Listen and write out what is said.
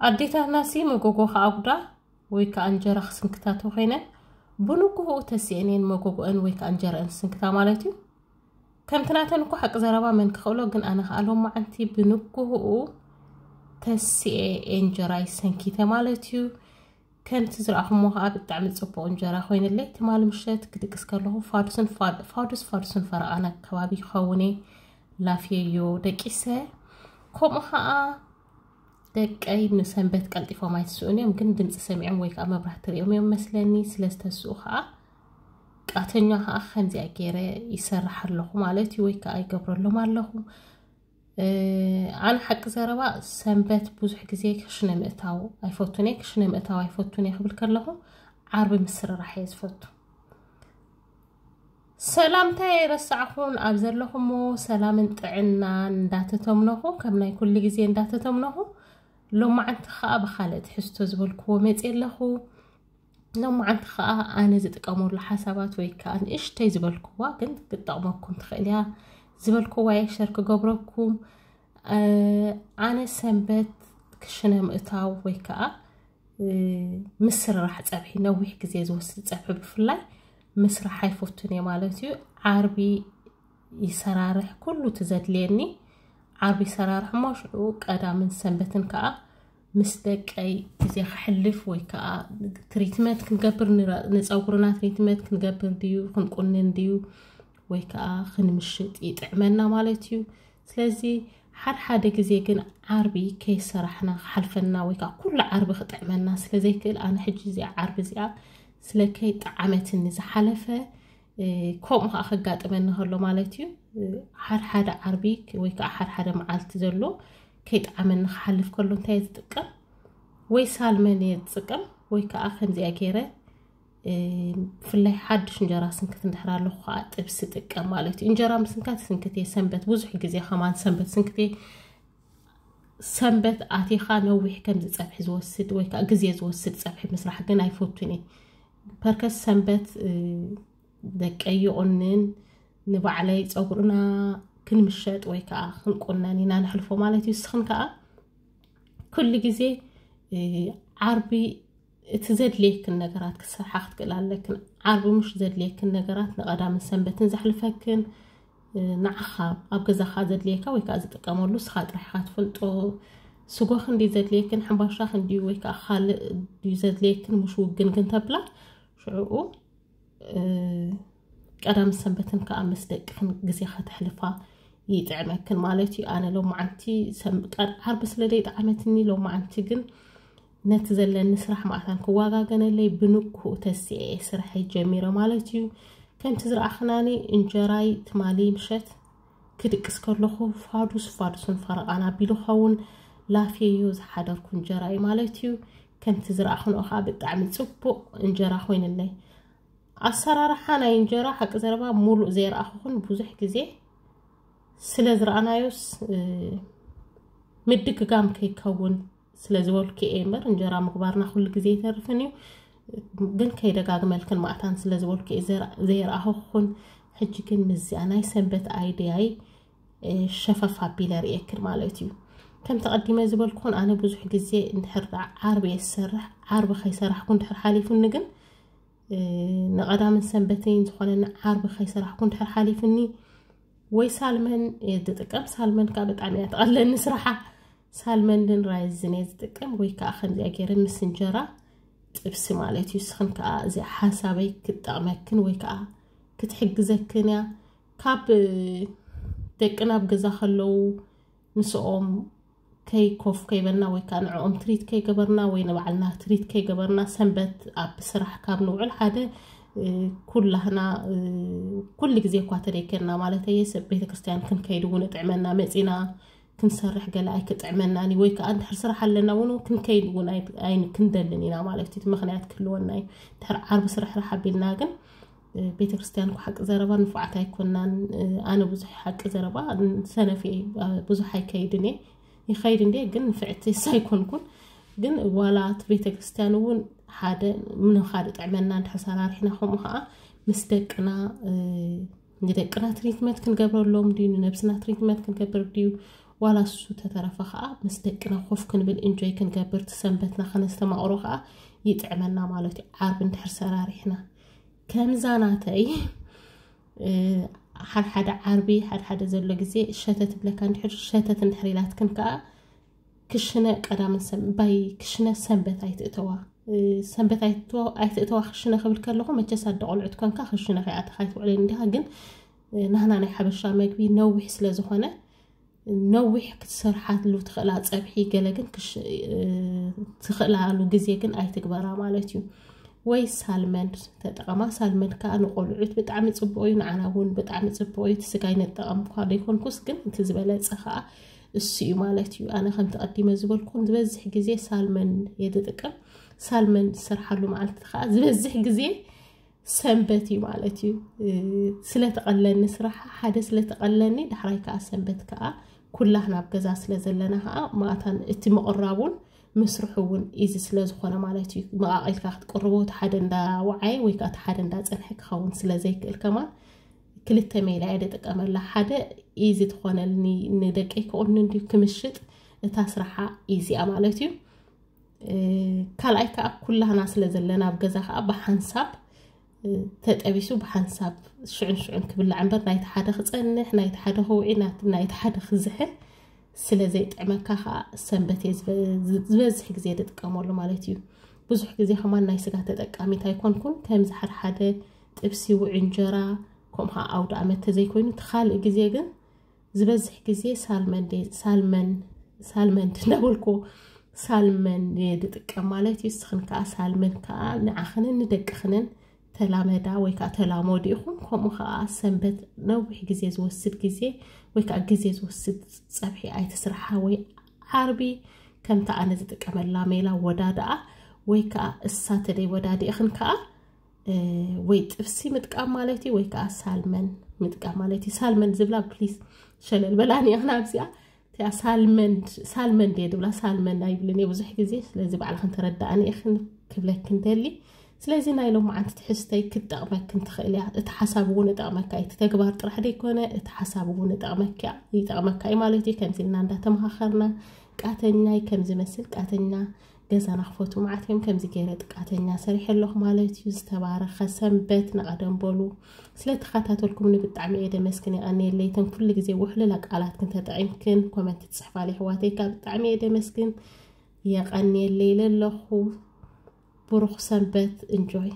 ኣዴታትናሲ መጎጎ ከኣጉዳ ወይ ከዓ እንጀራ ክስንክታ ተኾይነን ብንግሆኡ ተሲአን እየን መጎጎአን ወይ ከዓ እንጀራአን ዝስንክታ ማለት እዩ። ከምቲ ናተን እኮ ሓቂ ዘረባ መን ክኽእሎ፣ ግን ኣነ ከዓ ሎማዓንቲ ብንግሆኡ ተሲኤ እንጀራይ ሰንኪተ ማለት እዩ። ከምቲ ዝረኣኹሞ ከዓ ብጣዕሚ ፅቡቕ እንጀራ ኮይንለይ። ትማሊ ምሸት ክድቅስ ከለኹ ፋዱስን ፋድ- ፋዱስ ፋዱስን ፈረቓን ኣከባቢ ይኸውን እየ ላፍየዮ ደቂሰ። ከምኡ ከዓ ደቀይ ንሰንበት ቀልጢፎም ኣይትስኡን እዮም፣ ግን ድምፂ ሰሚዖም ወይ ከዓ መብራህቲ ሪኦም እዮም መስለኒ። ስለ ዝተስኡ ከዓ ቃተኛ ከዓ ከምዚኣ ገይረ ይሰርሕ ኣለኹ ማለት እዩ፣ ወይ ከዓ ይገብረሎም ኣለኹ። ኣነ ሓቂ ዘረባ ሰንበት ብዙሕ ግዜ ክሽነ ምእታው ኣይፈቱን እየ። ክሽነ ምእታው ኣይፈቱን እየ ክብል ከለኹ ዓርቢ ምስርራሕ እየ ዝፈቱ። ሰላምታ የረሳዕኹን ኣብ ዘለኹሞ ሰላምን ጥዕናን እንዳተተምነኹ፣ ከም ናይ ኩሉ ግዜ እንዳተተምነኹ፣ ሎማዓንቲ ከዓ ብካልእ ትሕዝቶ ዝበልክዎ መፅእ ኣለኹ። ሎማዓንቲ ከዓ ኣነ ዝጥቀመሉ ሓሳባት ወይ ከዓ ንእሽተይ ዝበልክዋ ግን ክትጠቕመኩም ትኽእል እያ ዝበልክዋ እየ ሸር ክገብረኩም። ኣነ ሰንበት ክሽነ ምእታው ወይ ከዓ ምስርራሕ ፀብሒ፣ ነዊሕ ግዜ ዝወስድ ፀብሒ ብፍላይ ምስራሕ ኣይፈቱን እየ ማለት እዩ። ዓርቢ ይሰራርሕ ኩሉ ትዘድልየኒ። ዓርቢ ይሰራርሕ እሞ ሽዑ ቀዳምን ሰንበትን ከዓ ምስ ደቀይ ግዜ ከሕልፍ ወይ ከዓ ትሪትመንት ክንገብር ንረ- ንፀጉርና ትሪትመንት ክንገብር ድዩ ክንቁንን ድዩ ወይ ከዓ ክንምሽጥ ይጥዕመና ማለት እዩ። ስለዚ ሓደ ሓደ ግዜ ግን ዓርቢ ከይሰራሕና ክሓልፈና ወይ ከዓ ኩሉ ዓርቢ ክጥዕመና ስለ ዘይክእል ኣነ ሕጂ እዚኣ ዓርቢ እዚኣ ስለ ከይጠዓመትኒ ዝሓለፈ ከምኡ ከዓ ከጋጥመኒ ከሎ ማለት እዩ። ሓደ ሓደ ዓርቢ ወይ ከዓ ሓደ ሓደ መዓልቲ ዘሎ ከይጠዓመኒ ክሓልፍ ከሎ እንታይ ዝጥቀም ወይ ሳልመን እየ ዝጥቀም ወይ ከዓ ከምዚኣ ገይረ ብፍላይ ሓድሽ እንጀራ ስንክት እንድሕር ኣለኹ ከዓ ጥብሲ ጥቀም ማለት እዩ። እንጀራ ምስንካት ስንክት እየ ሰንበት ብዙሕ ግዜ ከማን ሰንበት ስንክት እየ። ሰንበት ኣቲኻ ነዊሕ ከምዚ ፀብሒ ዝወስድ ወይ ከዓ ግዜ ዝወስድ ፀብሒ ምስራሕ ግን ኣይፈቱን እየ። ፐርከስ ሰንበት ደቀይ ይቑንን ንባዕለይ ፀጉርና ክንምሸጥ ወይ ከዓ ክንቁነን ኢና ንሕልፎ ማለት እዩ። ንስኽን ከዓ ኩሉ ግዜ ዓርቢ እቲ ዘድልየክን ነገራት ክሰርሓ ክትክእል ኣለክን። ዓርቢ ምሽ ዘድልየክን ነገራት ንቐዳምን ሰንበትን ዘሕልፈክን ንዓኻ ኣብ ገዛኻ ዘድልየካ ወይ ከዓ ዝጥቀመሉ ስኻ ጥራሕካ ትፈልጦ። ስጎ ክንዲ ዘድልየክን ሕንባሻ ክንዲ ወይ ከዓ ካልእ ድዩ ዘድልየክን ምሽ ውግን ግን ተብላ ሽዕኡ ቀዳም ሰንበትን ከዓ ምስ ደቅኽን ግዜ ከተሕልፋ ይጥዕመክን ማለት እዩ። ኣነ ሎማዓንቲ ዓርቢ ስለ ዘይጠዓመትኒ ሎማዓንቲ ግን ነቲ ዘለኒ ስራሕ ማእታን ክዋጋገነለይ ብንግሁ ተሲኤ ስርሐይ ጀሚረ ማለት እዩ። ከምቲ ዝረኣኽናኒ እንጀራይ ትማሊ ምሸት ክድቅስ ከለኹ ፋዱስ ፋዱስን ፈረቓን ኣቢሉ ኸውን ላፍየዮ ዝሓደርኩ እንጀራ እዩ ማለት እዩ። ከምቲ ዝረኣኽንኦ ከዓ ብጣዕሚ ፅቡቕ እንጀራ ኮይንለይ። ኣሰራርሓ ናይ እንጀራ ሓቂ ዘረባ ሙሉእ ዘይረኣኹኹን ብዙሕ ግዜ ስለ ዝረኣናዮስ ምድግጋም ከይከውን ስለ ዝበልኩ እየ እምበር እንጀራ ምግባርና ኩሉ ግዜ ይተርፍን እዩ። ግን ከይደጋግመልክን ማእታን ስለ ዝበልኩ እየ ዘይረኣኹኹን። ሕጂ ግን ምስዚኣ ናይ ሰንበት ኣይድያይ ሸፈፍ ኣቢለ ርእየክን ማለት እዩ። ከም ተቐዲመ ዝበልኩኹን ኣነ ብዙሕ ግዜ እንድሕር ደኣ ዓርቢ እየ ዝሰርሕ። ዓርቢ ከይሰራሕኩ እንድሕር ሓሊፉኒ ግን ንቐዳምን ሰንበተይን ዝኾነኒ ዓርቢ ከይሰራሕኩ እንድሕር ሓሊፍኒ ወይ ሳልመን እየ ዝጥቀም። ሳልመን ከዓ ብጣዕሚ እያ ትቐለኒ ስራሓ። ሳልመን ድን ራይዝን እየ ዝጥቀም ወይ ከዓ ከምዚኣ ገይረ ምስ እንጀራ ጥብሲ ማለት እዩ። ንስኽን ከዓ እዚኣ ሓሳበይ ክትጠቕመክን ወይ ከዓ ክትሕግዘክን እያ። ካብ ደቅና ኣብ ገዛ ከለዉ ምስኦም ከይኮፍ ከይበልና ወይ ከዓ ንዕኦም ትሪት ከይገበርና ወይ ንባዕልና ትሪት ከይገበርና ሰንበት ኣብ ስራሕ ካብ ንውዕል ሓደ ኩላህና ኩሉ ግዜ እኳ ተደይከና ማለት እየ ሰብ ቤተክርስትያን ክንከይድ እውን እጥዕመና መፂና ክንሰርሕ ገለ ኣይክጥዕመናን ወይ ከዓ እንድሕር ስራሕ ኣለና እውን ክንከይድ እውን ኣይክንደልን ኢና ማለት እዩ። ምክንያት ክህልወና እዩ። ድሕር ዓርቢ ስርሕራሕ ኣቢልና ግን ቤተክርስትያን እኮ ሓቂ ዘረባ ንፉዓት ኣይኮናን። ኣነ ብዙሕ ሓቂ ዘረባ ሰነፍ እየ፣ ብዙሕ ኣይከይድን እየ። ይኸይድ እንዴ ግን ንፍዕቲ ኣይኮንኩን። ግን ዋላ እቲ ቤተክርስትያን እውን ሓደ ምንኻ ድጥዕመና እንድሕር ሰራርሕና ከምኡ ከዓ ምስ ደቅና ንደቅና ትሪትመንት ክንገብረሎም ድዩ ንነብስና ትሪትመንት ክንገብር ድዩ ዋላ እሱ ተተረፈ ከዓ ምስ ደቅና ኮፍ ክንብል እንጆይ ክንገብር ትሰንበትና ከነስተማቕሮ ከዓ ይጥዕመና ማለት እዩ። ዓርቢ እንድሕር ሰራሪሕና ከምዛ ናተይ ሓደ ሓደ ዓርቢ ሓደ ሓደ ዘሎ ግዜ ሸተት ትብለካ እንድሕር ሸተት እንድሕር ኢላትክን ከዓ ክሽነ ቀዳምን ባይ ክሽነ ሰንበት ኣይትእተዋ። ሰንበት ኣይትእተዋ ክሽነ ክብል ከለኹ መቸስ ኣደ ቆልዑት ኮንካ ክሽነ ከይኣተኻ ኣይትውዕልን እንዲኻ። ግን ናህና ናይ ሓበሻ መግቢ ነዊሕ ስለ ዝኾነ ነዊሕ ክትሰርሓሉ ትኽእላ ፀብሒ ገለ ግን ትኽእላሉ ግዜ ግን ኣይትግበራ ማለት እዩ። ወይ ሳልመን ተጠቐማ። ሳልመን ከዓ ንቆልዑት ብጣዕሚ ፅቡቅ እዩ፣ ንዓና እውን ብጣዕሚ ፅቡቅ እዩ። እቲ ስጋ ይነጠቐም እኳ ዘይኮንኩስ ግን እቲ ዝበለፀ ከዓ እሱ እዩ ማለት እዩ። ኣነ ከምቲ ቀዲመ ዝበልኩን ዝበዝሕ ግዜ ሳልመን የድጥቀም። ሳልመን ዝሰርሓሉ መዓልቲ ከዓ ዝበዝሕ ግዜ ሰንበት እዩ ማለት እዩ። ስለተቐለኒ ስራሕ ሓደ ስለተቐለኒ ዳሕራይ ከዓ ሰንበት ከዓ ኩላህና ኣብ ገዛ ስለ ዘለና ከዓ ማእታን እቲ ምቕራቡን ምስርሑ እውን ኢዚ ስለ ዝኾነ ማለት እዩ። መቓቒልካ ክትቅርቦ እቲ ሓደ እንዳ ወዓየ ወይ ከዓ እቲ ሓደ እንዳ ፀንሐ ክኸውን ስለ ዘይክእል ከማን ክልተ ሜላ እየ ዝጥቀመላ። ሓደ ኢዚ ትኾነልኒ ንደቀይ ክቑኒ እንዲሁ ክምሽጥ እታ ስራሓ ኢዚያ ማለት እዩ። ካልኣይ ከዓ ኩላህና ስለ ዘለና ኣብ ገዛ ከዓ ብሓንሳብ ተጠቢሱ ብሓንሳብ ሽዑን ሽዑን ክብላዕ እምበር ናይቲ ሓደ ክፀንሕ ናይቲ ሓደ ክውዒ ናይቲ ሓደ ክዝሐ ስለ ዘይጥዕመካ ከዓ ሰንበት እየ ዝበዝሕ ግዜ ዝጥቀመሉ ማለት እዩ። ብዙሕ ግዜ ከማን ናይ ስጋ ተጠቃሚት ኣይኮንኩን። ከምዚ ሓደ ሓደ ጥብሲ ውዕ እንጀራ ከምኡ ከዓ ኣውደ ኣመት ተዘይኮይኑ እቲ ካልእ ግዜ ግን ዝበዝሕ ግዜ ሳልመን ሳልመን ሳልመን እንዳበልኩ ሳልመን ድጥቀም ማለት እዩ። እስኽን ከዓ ሳልመን ከዓ ንዓኽንን ንደቅኽንን ተላመዳ ወይ ከዓ ተላመዱ ኢኹም። ከምኡ ከዓ ሰንበት ነዊሕ ግዜ ዝወስድ ግዜ ወይ ከዓ ግዜ ዝወስድ ፀብሒ ኣይትስርሓ። ወይ ዓርቢ ከምቲ ኣነ ዝጥቀመላ ሜላ ወዳድኣ ወይ ከዓ እሳ ተደይ ወዳዲእኽን ከዓ ወይ ጥብሲ ምጥቃም ማለት እዩ ወይ ከዓ ሳልመን ምጥቃም ማለት እዩ። ሳልመን ዝብላ ፕሊስ ሸለል በላኒ ኢኽን ኣብዚኣ እቲኣ ሳልመን ሳልመን ድየ ድብላ ሳልመን ኣይብልን እየ ብዙሕ ግዜ። ስለዚ ባዕልኽን ተረዳእኒ ኢኽን ክብለክን ደሊ። ስለዚ ናይ ሎማዓንቲ ትሕዝተይ ክትጠቕመክን ትኽእል እያ። እቲ ሓሳብ እውን እጠቕመካ እዩ። እቲ ተግባር ጥራሕ ደይኮነ እቲ ሓሳብ እውን እጠቕመካ ይጠቕመካ እዩ ማለት እዩ። ከምዚ ኢልና እንዳተመኻኸርና ቃተኛይ ከምዚ መስል ቃተኛ ገዛና ክፈቱ መዓት እዮም። ከምዚ ገይረ ጥቃተኛ ሰሪሐ ኣለኹ ማለት እዩ። ዝተባረኸ ሰንበት ንቐደም በሉ። ስለተኸታተልኩምኒ ብጣዕሚ እየ ደመስግን የቐንየለይ። እተን ኩሉ ግዜ ውሕልላ ቃላትክን ተጠቒምክን ኮመንት ትፅሕፋለይ ኣሕዋተይ ከዓ ብጣዕሚ እየ ደመስግን የቐንየለይ ኢለ ኣለኹ። ብሩኽ ሰንበት። እንጆይ።